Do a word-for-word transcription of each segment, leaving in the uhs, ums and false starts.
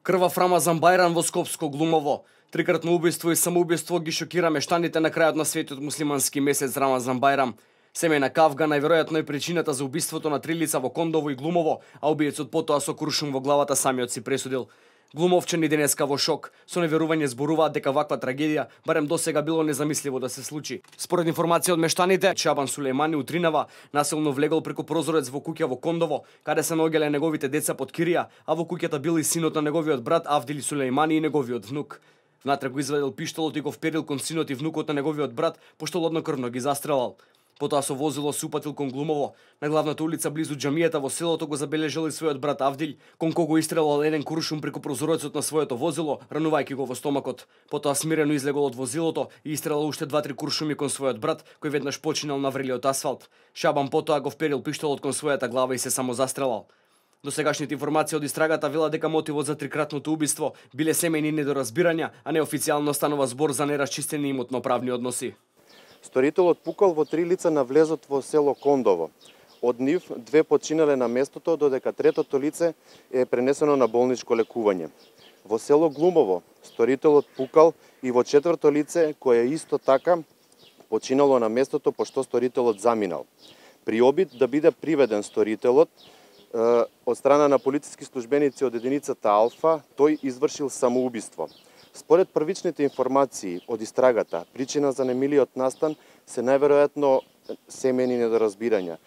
Крвав Рамазан Бајрам во Скопско Глумово. Трикратно убиство и самоубиство ги шокира мештаните на крајот на светот муслимански месец Рамазан Бајрам. Семејна кавга најверојатно е причината за убиството на три лица во Кондово и Глумово, а убиецот потоа со куршум во главата самиот си пресудил. Глумовчани денеска во шок, со неверување зборуваат дека ваква трагедија барем досега било незамисливо да се случи. Според информација од мештаните, Шабан Сулејмани утринава насилно влегол преку прозорец во куќа во Кондово, каде се наоѓале неговите деца под кирија, а во куќата бил и синот на неговиот брат Авдил Сулејмани и неговиот внук. Внатре го извадил пиштолот и го вперил кон синот и внукот на неговиот брат, пошто лоднокрвно ги застрелал. Потоа со возило се упатил кон Глумово. На главната улица близу џамијата во селото го забележал и својот брат Авдил, кон кого истрелал еден куршум преку прозорецот на своето возило, ранувајќи го во стомакот. Потоа смирено излегол од возилото и истрелал уште два-три куршуми кон својот брат, кој веднаш починал на врелиот асфалт. Шабан потоа го вперил пиштолот кон својата глава и се самозастрелал. До сегашните информации од истрагата велат дека мотивот за трикратното убиство биле семејни недоразбирања, а неофицијално станува збор за нерасчистени имотно-правни односи. Сторителот пукал во три лица на влезот во село Кондово. Од нив две починале на местото, додека третото лице е пренесено на болничко лекување. Во село Глумово сторителот пукал и во четврто лице, кое исто така починало на местото пошто сторителот заминал. При обид да биде приведен сторителот од страна на полициски службеници од единицата Алфа, тој извршил самоубиство. Според првичните информации од истрагата, причина за немилиот настан се најверојатно семејни недоразбирања.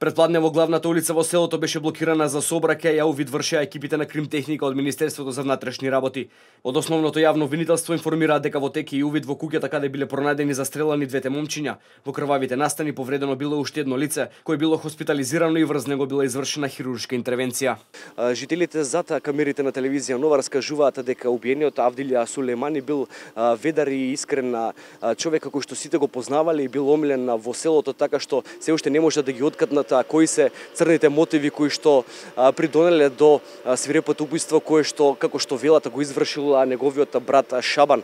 Предпладне во главната улица во селото беше блокирана за сообраќај, а увид вршеа екипите на кримтехника од Министерството за внатрешни работи. Од основното јавно обвинителство информираат дека во тек и увид во куќата каде биле пронајдени застрелани двете момчиња. Во крвавите настани повредено било уште едно лице, кој било хоспитализирано и врз него била извршена хируршка интервенција. Жителите зад камерите на телевизија Нова раскажуваат дека убиениот Авдил Сулејмани бил ведар и искрен човек кој што сите го познавале и бил омилен во селото, така што се уште не може да ги откатнат кои се црните мотиви кои што а, придонеле до а, свирепото убиство кое што како што велата го извршил неговиот брат Шабан.